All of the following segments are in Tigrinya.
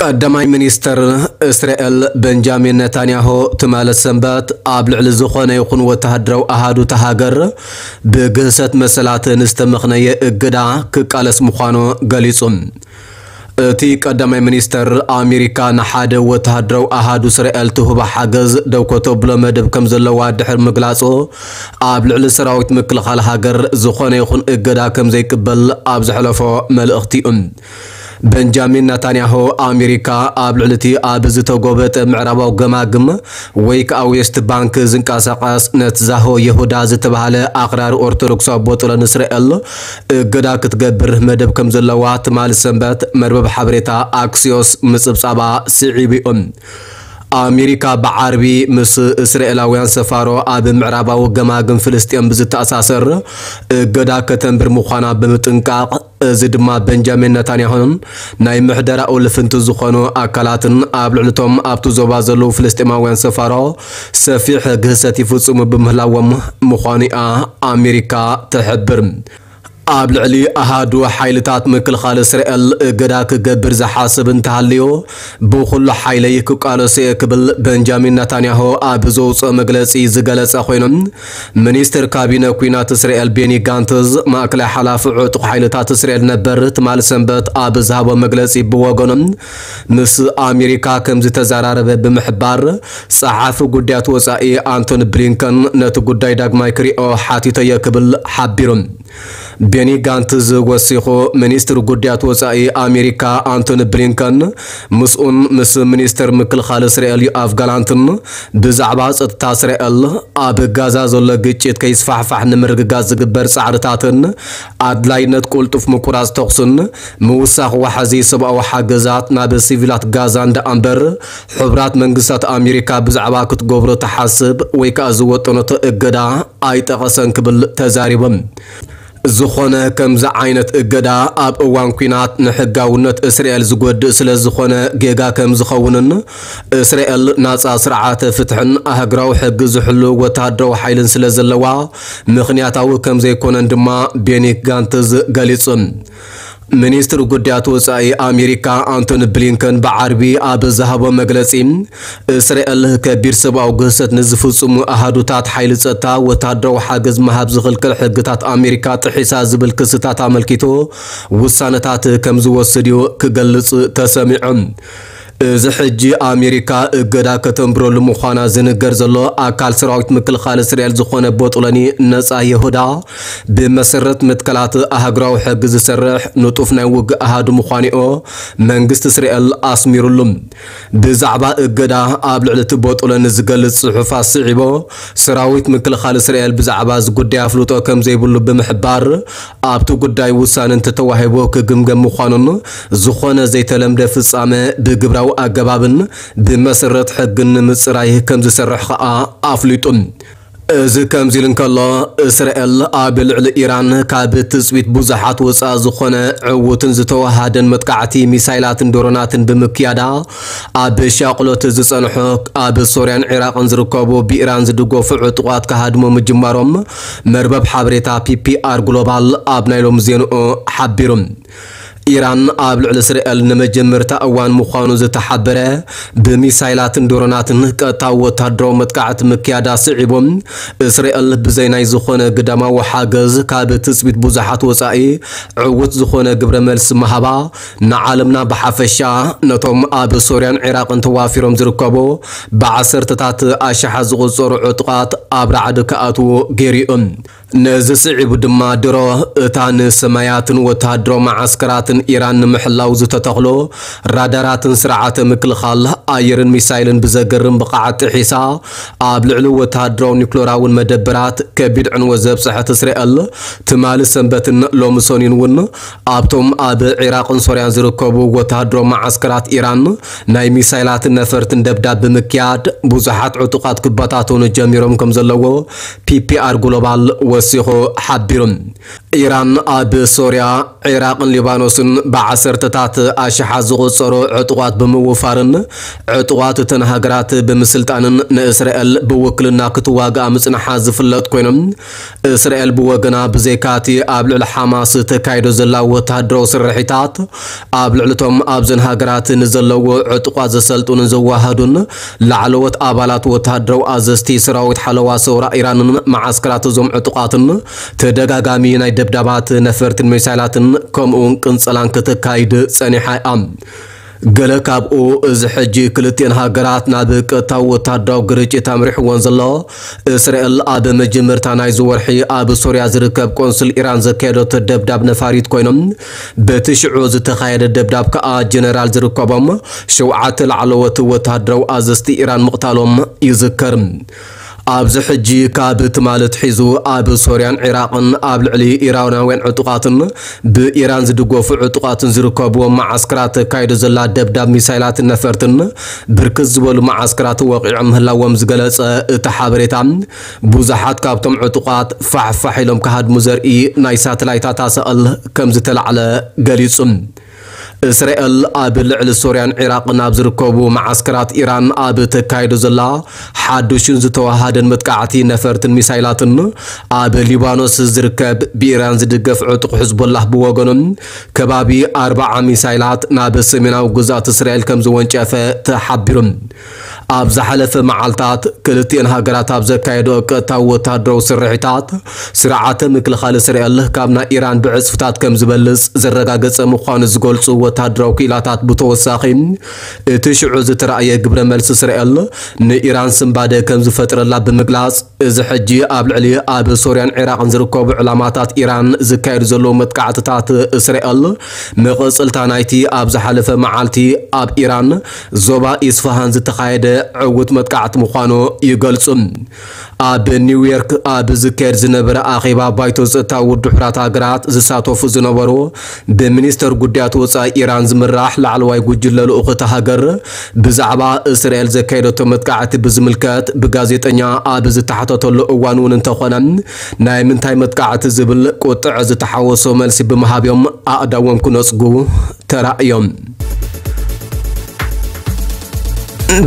ቀዳማይ ሚኒስተር እስራኤል በንጃሚን ነታንያሁ ትማሊ ሰንበት ኣብ ልዕሊ ዝኾነ ይኹን ወተሃደራዊ ኣሃዱታ ሃገር ብግህሰት መሰላት ንዝተመኽነየ እገዳ ክቃለስ ምዃኑ ገሊጹ። እቲ ቀዳማይ ሚኒስተር ኣሜሪካ ንሓደ ወተሃደራዊ ኣሃዱ እስራኤል ትህቦ ሓገዝ ደው ከተብሎ መደብ ከም ዘለዋ ድሕሪ ምግላጹ፣ ኣብ ልዕሊ ሰራዊት ምክልኻል ሃገር ዝኾነ ይኹን እገዳ ከም ዘይቅበል ኣብ ዘሕለፎ መልእኽቲ'ዩ። በንጃሚን ናታንያሁ ኣሜሪካ ኣብ ልዕሊ እቲ ኣብ ዝተጎበጠ ምዕራባዊ ገማግም ወይ ከኣ ዌስት ባንክ ዝንቀሳቐስ ነትዛሆ የሁዳ ዝተባህለ ኣኽራሪ ኦርቶዶክሳዊ ቦጥሎን እስራኤል እገዳ ክትገብር መደብ ከም ዘለዋ ትማሊ ሰንበት መርበብ ሓበሬታ ኣክሲዮስ ምጽብጻባ ስዒቡ እዩ። ኣሜሪካ ብዓርቢ ምስ እስራኤላውያን ሰፋሮ ኣብ ምዕራባዊ ገማግም ፍልስጤም ብዝተኣሳሰር እገዳ ከተንብር ምዃና ብምጥንቃቕ፣ እዚ ድማ በንጃሚን ነታንያሁን ናይ ምሕደራኡ ልፍንቲ ዝኾኑ ኣካላትን ኣብ ልዕሊቶም ኣብቲ ዞባ ዘለዉ ፍልስጤማውያን ሰፋሮ ሰፊሕ ግህሰት ይፍጽሙ ብምህላዎም ምዃኑ እያ ኣሜሪካ ትሕብር። ኣብ ልዕሊ ኣሃዱ ሓይልታት ምክልኻል እስራኤል እገዳ ክገብር ዝሓስብ እንተሃልዩ፣ ብኹሉ ሓይለይ ክቃለሶ እየ ክብል በንጃሚን ነታንያሁ ኣብ ዘውፅኦ መግለፂ ዝገለጸ ኮይኑ፣ ሚኒስትር ካቢነ ኲናት እስራኤል ቤኒ ጋንትዝ፣ ማእከላይ ሓላፊ ዕጡቕ ሓይልታት እስራኤል ነበር፣ ትማሊ ሰንበት ኣብ ዝሃቦ መግለጺ ብወገኑ፣ ምስ ኣሜሪካ ከም ዝተዘራረበ ብምሕባር፣ ጸሓፊ ጉዳያት ወጻኢ ኣንቶኒ ብሊንከን ነቲ ጉዳይ ዳግማይ ክሪኦ ሓቲተዮ ክብል ሓቢሩ። ቤኒ ጋንትዝ ወሲኹ፣ ሚኒስትር ጉዳያት ወጻኢ ኣሜሪካ ኣንቶኒ ብሊንከን ምስኡን ምስ ሚኒስተር ምክልኻል እስራኤል ዮኣቭ ጋላንትን ብዛዕባ ጸጥታ እስራኤል፣ ኣብ ጋዛ ዘሎ ግጭት ከይስፋሕፋሕ ንምርግጋጽ ዝግበር ጻዕርታትን ኣድላይነት ቅልጡፍ ምቁራጽ ተኹስን ምውሳኽ ዋሕዚ ሰብኣዊ ሓገዛት ናብ ሲቪላት ጋዛ እንዳ እምበር፣ ሕቡራት መንግስታት ኣሜሪካ ብዛዕባ ክትገብሮ ትሓስብ ወይ ከኣ ዝወጠነቶ እገዳ ኣይጠቐሰን ክብል ተዛሪቦም። ዝኾነ ከምዚ ዓይነት እገዳ ኣብ እዋን ኲናት ንሕጋውነት እስራኤል ዝጎድእ ስለ ዝኾነ ጌጋ ከም ዝኸውንን እስራኤል ናጻ ስርዓተ ፍትሕን ኣህግራዊ ሕጊ ዝሕሉ ወተሃደራዊ ሓይልን ስለ ዘለዋ ምኽንያታዊ ከም ዘይኮነን ድማ ቤኒ ጋንትዝ ገሊጹ። ሚኒስትር ጉዳያት ወጻኢ ኣሜሪካ ኣንቶኒ ብሊንከን ብዓርቢ ኣብ ዝሃቦ መግለጺ፣ እስራኤል ከቢድ ሰብኣዊ ግህሰት ንዝፍጽሙ ኣሃዱታት ሓይሊ ጸጥታ ወተሃደራዊ ሓገዝ ምሃብ ዝኽልክል ሕግታት ኣሜሪካ ጥሒሳ ዝብል ክስታት ኣመልኪቱ ውሳነታት ከም ዝወስድ እዩ ክገልጽ ተሰሚዑ። እዚ ሕጂ ኣሜሪካ እገዳ ከተንብረሉ ምዃና ዝንገር ዘሎ ኣካል ሰራዊት ምክልኻል እስራኤል ዝኾነ ቦጥሎኒ ነጻ ይሁዳ ብመሰረት መትከላት ኣህግራዊ ሕጊ ዝሰርሕ ንጡፍ ናይ ውግእ ኣሃዱ ምዃኑኦ መንግስቲ እስራኤል ኣስሚሩሉ። ብዛዕባ እገዳ ኣብ ልዕሊ እቲ ቦጥሎኒ ዝገልጽ ጽሑፍ ኣስዒቦ፣ ሰራዊት ምክልኻል እስራኤል ብዛዕባ እዚ ጉዳይ ኣፍልጦ ከም ዘይብሉ ብምሕባር፣ ኣብቲ ጉዳይ ውሳነ እንተተዋሂቡ ክግምገም ምዃኑን ዝኾነ ዘይተለምደ ፍጻመ ብግብራዊ ኣገባብን ብመሰረት ሕግን ንምጽራይ ከም ዝሰርሕ ከኣ ኣፍሊጡ። እዚ ከምዚ ኢሉ እንከሎ፣ እስራኤል ኣብ ልዕሊ ኢራን ካብ ትጽቢት ብዙሓት ወጻኢ ዝኾነ ዕዉትን ዝተወሃደን መጥቃዕቲ ሚሳይላትን ድሮናትን ብምክያዳ፣ ኣብ ሻቕሎት ዝጸንሑ ኣብ ሶርያን ዒራቕን ዝርከቡ ብኢራን ዝድገፉ ዕጡቓት ክሃድሙ ምጅማሮም መርበብ ሓበሬታ ፒ ፒ ኣር ግሎባል ኣብ ናይ ሎሚ ዜንኡ ሓቢሩ። ኢራን ኣብ ልዕሊ እስራኤል ንመጀመርታ እዋን ምዃኑ ዝተሓበረ ብሚሳይላትን ድሮናትን ቀጥታዊ ወታደራዊ መጥቃዕቲ ምክያዳ ስዒቡ፣ እስራኤል ብዘይ ናይ ዝኾነ ግዳማዊ ሓገዝ ካብ ትጽቢት ብዙሓት ወጻኢ ዕዉት ዝኾነ ግብረ መልሲ ምሃባ ንዓለምና ብሓፈሻ ነቶም ኣብ ሶርያን ዒራቕን ተዋፊሮም ዝርከቡ ብዓሰርተታት ኣሽሓት ዝቑጸሩ ዕጡቓት ኣብ ራዕዲ ክኣትዉ ገይሩ እዩ። ነዚ ስዒቡ ድማ ድሮ እታ ንሰማያትን ወተሃደራዊ መዓስከራትን ኢራን ንምሕላው ዝተተኽሎ ራዳራትን ስርዓተ ምክልኻል ኣየርን ሚሳይልን ብዘገርም ብቕዓት ጥሒሳ ኣብ ልዕሊ ወተሃደራዊ ኒክሎራውን መደበራት ከቢድ ዕንወት ዘብጽሐት እስራኤል ትማሊ ሰንበትን ሎሚ ሰኑይን እውን ኣብቶም ኣብ ዒራቕን ሶርያን ዝርከቡ ወተሃደራዊ መዓስከራት ኢራን ናይ ሚሳይላትን ነፈርትን ደብዳብ ብምክያድ ብዙሓት ዕጡቓት ክበታተኑ ጀሚሮም ከም ዘለዎ ፒ ፒ ኣር ግሎባል ወሲኹ ሓቢሩ። ኢራን ኣብ ሶርያ፣ ዒራቕን ሊባኖስን ብዓሰርተታት ኣሽሓት ዝቑጸሩ ዕጡቓት ብምውፋርን ዕጡቓት እተን ሃገራት ብምስልጣንን ንእስራኤል ብውክልና ክትዋግኣ ምጽንሓ ዝፍለጥ ኮይኖም፣ እስራኤል ብወገና ብዘይካቲ ኣብ ልዕሊ ሓማስ ተካይዶ ዘላ ወተሃደራዊ ስርሒታት ኣብ ልዕሊ እቶም ኣብዘን ሃገራት ንዘለዎ ዕጡቓት ዘሰልጡንን ዘዋሃዱን ላዕለዎት ኣባላት ወተሃደራዊ ኣዘዝቲ ሰራዊት ሓለዋ ሰውራ ኢራንን መዓስከራት እዞም ዕጡቓትን ተደጋጋሚ ናይ ደብዳባት ነፈርትን ሚሳይላትን ከምኡውን ቅንጸላን ከተካይድ ጸኒሓ እያ። ገለ ካብኡ እዚ ሕጂ ክልቲኤን ሃገራት ናብ ቀጥታዊ ወታደራዊ ግርጭት ኣምሪሕዎን ዘሎ፣ እስራኤል ኣብ መጀመርታ ናይዚ ወርሒ ኣብ ሶርያ ዝርከብ ቆንስል ኢራን ዘካየደቶ ደብዳብ ነፋሪት ኮይኖም፣ በቲ ሽዑ ዝተኻየደ ደብዳብ ከኣ ጀነራል ዝርከቦም ሸውዓተ ላዕለዎት ወታደራዊ ኣዘዝቲ ኢራን ምቕታሎም ይዝከር። ኣብዚ ሕጂ ካብ ትማሊ ኣትሒዙ ኣብ ሶርያን ዒራቕን ኣብ ልዕሊ ኢራናውያን ዕጡቓትን ብኢራን ዝድገፉ ዕጡቓትን ዝርከብዎም መዓስከራት ተካይዶ ዘላ ደብዳብ ሚሳይላትን ነፈርትን ብርክት ዝበሉ መዓስከራት ወቒዖም ምህላዎም ዝገለጸ እቲ ሓበሬታ፣ ብዙሓት ካብቶም ዕጡቓት ፋሕፋሕ ኢሎም ክሃድሙ ዘርኢ ናይ ሳተላይታት ኣሳእል ከም ዝተላዕለ ገሊጹ። እስራኤል ኣብ ልዕሊ ሶርያን ዒራቕን ኣብ ዝርከቡ መዓስከራት ኢራን ኣብ ተካይዶ ዘላ ሓዱሽን ዝተዋሃደን መጥቃዕቲ ነፈርትን ሚሳይላትን፣ ኣብ ሊባኖስ ዝርከብ ብኢራን ዝድገፍ ዕጡቕ ሕዝቦላህ ብወገኑ ከባቢ ኣርባዓ ሚሳይላት ናብ ሰሜናዊ ግዝኣት እስራኤል ከም ዝወንጨፈ ተሓቢሩ። ኣብ ዝሓለፈ መዓልታት ክልቲኤን ሃገራት ኣብ ዘካየዶ ቀጥታዊ ወታደራዊ ስርሒታት፣ ስርዓተ ምክልኻል እስራኤል ካብ ናይ ኢራን ብዕጽፍታት ከም ዝበልጽ ዘረጋገጸ ምዃኑ ዝገልጹ ወታደራዊ ክኢላታት ብተወሳኺ፣ እቲ ሽዑ ዝተራእየ ግብረ መልሲ እስራኤል ንኢራን ስንባደ ከም ዝፈጥረላ ብምግላጽ፣ እዚ ሕጂ ኣብ ልዕሊ ኣብ ሶርያን ዒራቕን ዝርከቡ ዕላማታት ኢራን ዝካየዱ ዘለዉ መጥቃዕትታት እስራኤል መቐጸልታ ናይቲ ኣብ ዝሓለፈ መዓልቲ ኣብ ኢራን ዞባ ኢስፋሃን ዝተኻየደ ዕዉት መጥቃዕቲ ምዃኑ ይገልጹ። ኣብ ኒውዮርክ ኣብ ዝካየድ ዝነበረ ኣኼባ ባይቶ ጸጥታ ውድብ ሕቡራት ሃገራት ዝሳተፉ ዝነበሩ ብሚኒስተር ጉዳያት ወጻኢ ኢራን ዝምራሕ ላዕለዋይ ጉጅለ ልኡኽ እታ ሃገር ብዛዕባ እስራኤል ዘካየደቶ መጥቃዕቲ ብዝምልከት ብጋዜጠኛ ኣብ ዝተሓተተሉ እዋን እውን እንተኾነ፣ ናይ ምንታይ መጥቃዕቲ ዝብል ቁጥዕ ዝተሓወሶ መልሲ ብምሃብ እዮም ኣእዳዎም ክነጽጉ ተራእዮም።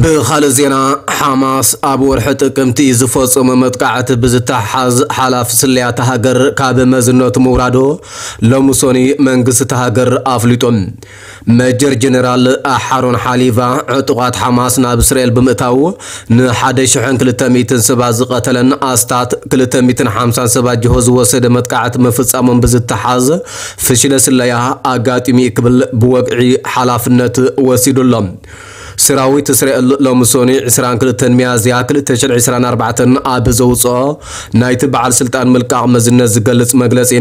ብኻልእ ዜና፣ ሓማስ ኣብ ወርሒ ጥቅምቲ ዝፈጸሞ መጥቃዕቲ ብዝተሓሓዝ ሓላፊ ስለያ እታ ሃገር ካብ መዝነቱ ምውራዱ ሎሚ ሰኑይ መንግስቲ እታ ሃገር ኣፍሊጡ። መጀር ጀነራል ኣሓሮን ሓሊቫ፣ ዕጡቓት ሓማስ ናብ እስራኤል ብምእታው ንሓደ ሽሕን ክልተ ሚእትን ሰባት ዝቐተለን ኣስታት ክልተ ሚእትን ሓምሳን ሰባት ጅሆ ዝወሰደ መጥቃዕቲ ምፍጻሞም ብዝተሓዝ ፍሽለ ስለያ ኣጋጢሙ እዩ ክብል ብወግዒ ሓላፍነት ወሲዱ ኣሎ። ሰራዊት እስራኤል ሎሚ ሰኑይ ዕስራን ክልተን ሚያዝያ ክልተ ሽሕን ዕስራን ኣርባዕተን ኣብ ዘውፅኦ ናይቲ በዓል ስልጣን ምልቃቕ መዝነት ዝገልጽ መግለጺ፣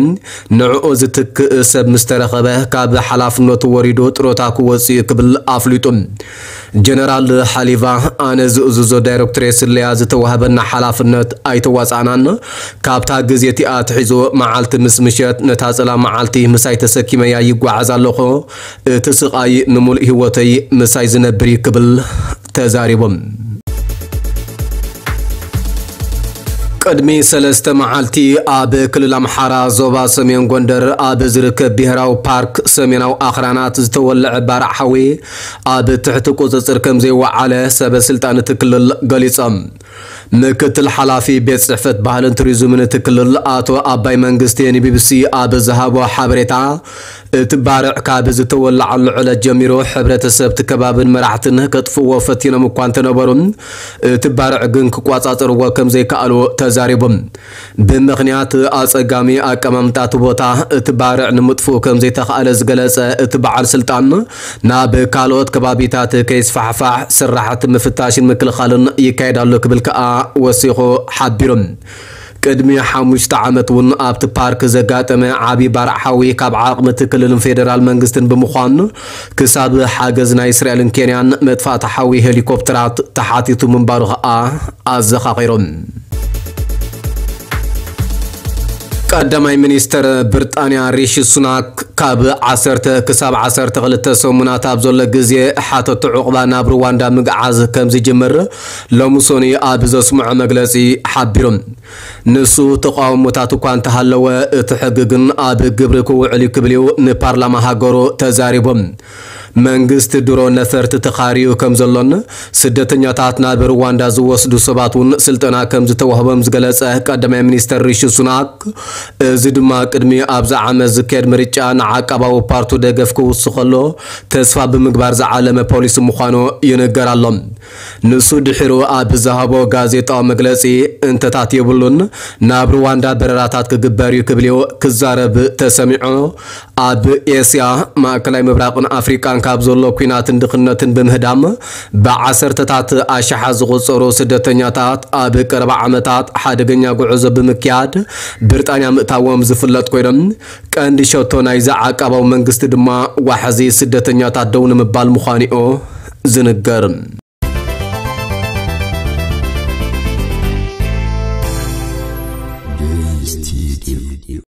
ንዕኡ ዝትክእ ሰብ ምስ ተረኸበ ካብ ሓላፍነቱ ወሪዱ ጥሮታ ክወጽእ እዩ ክብል ኣፍሊጡ። ጀነራል ሓሊቫ፣ ኣነ ዝእዝዞ ዳይሬክቶሬት ስለያ ዝተዋህበና ሓላፍነት ኣይተዋጻእናን። ካብታ ግዜ እቲኣ ኣትሒዙ መዓልቲ ምስ ምሸት ነታ ጸላም መዓልቲ ምሳይ ተሰኪመያ ይጓዓዝ ኣለኹ። እቲ ስቓይ ንምሉእ ህይወተይ ምሳይ ዝነብር እዩ ክብል ተዛሪቡ። ቅድሚ ሰለስተ መዓልቲ ኣብ ክልል ኣምሓራ ዞባ ሰሜን ጎንደር ኣብ ዝርከብ ብሄራዊ ፓርክ ሰሜናዊ ኣኽራናት ዝተወለዐ ባርዕ ሓዊ ኣብ ትሕቲ ቁጽጽር ከም ዘይወዓለ ሰበ ስልጣን እቲ ክልል ገሊጾም። ምክትል ሓላፊ ቤት ጽሕፈት ባህልን ቱሪዝምን እቲ ክልል ኣቶ ኣባይ መንግስቴ ንቢቢሲ ኣብ ዝሃቦ ሓበሬታ፣ እቲ ባርዕ ካብ ዝተወለዓሉ ዕለት ጀሚሩ ሕብረተሰብ እቲ ከባብን መራሕትን ከጥፍእዎ ፈቲኖም እኳ እንተነበሩ፣ እቲ ባርዕ ግን ክቋጻጸርዎ ከም ዘይከኣሉ ተዛሪቡ። ብምኽንያት ኣጸጋሚ ኣቀማምጣ እቲ ቦታ እቲ ባርዕ ንምጥፍኡ ከም ዘይተኻእለ ዝገለጸ እቲ በዓል ስልጣን፣ ናብ ካልኦት ከባቢታት ከይስፋሕፋሕ ስራሕቲ ምፍታሽን ምክልኻልን ይካየድ ኣሎ ክብል ከኣ ወሲኹ ሓቢሩ። ቅድሚ ሓሙሽተ ዓመት እውን ኣብቲ ፓርክ ዘጋጠመ ዓቢ ባርዕ ሓዊ ካብ ዓቕሚ እቲ ክልልን ፌደራል መንግስትን ብምዃኑ፣ ክሳብ ሓገዝ ናይ እስራኤልን ኬንያን መጥፋእቲ ሓዊ ሄሊኮፕተራት ተሓቲቱ ምንባሩ ከኣ ኣዘኻኺሮም። ቀዳማይ ሚኒስተር ብሪጣንያ ሪሺ ሱናክ ካብ ዓሰርተ ክሳብ ዓሰርተ ክልተ ሰሙናት ኣብ ዘሎ ግዜ ሓተቱ ዕቑባ ናብ ሩዋንዳ ምግዓዝ ከም ዝጅምር ሎሚ ሰኑይ ኣብ ዘስምዖ መግለጺ ሓቢሩ። ንሱ ተቃውሞታት እኳ እንተሃለወ እቲ ሕጊ ግን ኣብ ግብሪ ክውዕል እዩ ክብል እዩ ንፓርላማ ሃገሩ ተዛሪቡ። መንግስቲ ድሮ ነፈርቲ ተኻርዩ ከም ዘሎን ስደተኛታት ናብ ሩዋንዳ ዝወስዱ ሰባት እውን ስልጠና ከም ዝተዋህቦም ዝገለጸ ቀዳማይ ሚኒስተር ሪሺ ሱናክ፣ እዚ ድማ ቅድሚ ኣብዚ ዓመት ዝካየድ ምርጫ ንዓቃባዊ ፓርቱ ደገፍ ክውስኸሎ ተስፋ ብምግባር ዝዓለመ ፖሊሲ ምዃኑ ይንገር ኣሎ። ንሱ ድሒሩ ኣብ ዝሃቦ ጋዜጣዊ መግለጺ፣ እንተታት የብሉን፣ ናብ ሩዋንዳ በረራታት ክግበር እዩ ክብል እዩ ክዛረብ ተሰሚዑ። ኣብ ኤስያ፣ ማእከላይ ምብራቕን ኣፍሪቃን ካብ ዘሎ ኲናትን ድኽነትን ብምህዳም ብዓሰርተታት ኣሽሓት ዝቑጸሩ ስደተኛታት ኣብ ቀረባ ዓመታት ሓደገኛ ጉዕዞ ብምክያድ ብሪጣንያ ምእታዎም ዝፍለጥ ኮይኖም፣ ቀንዲ ሸቶ ናይዚ ዓቃባዊ መንግስቲ ድማ ዋሕዚ ስደተኛታት ደው ንምባል ምዃኑ'ዩ ዝንገር።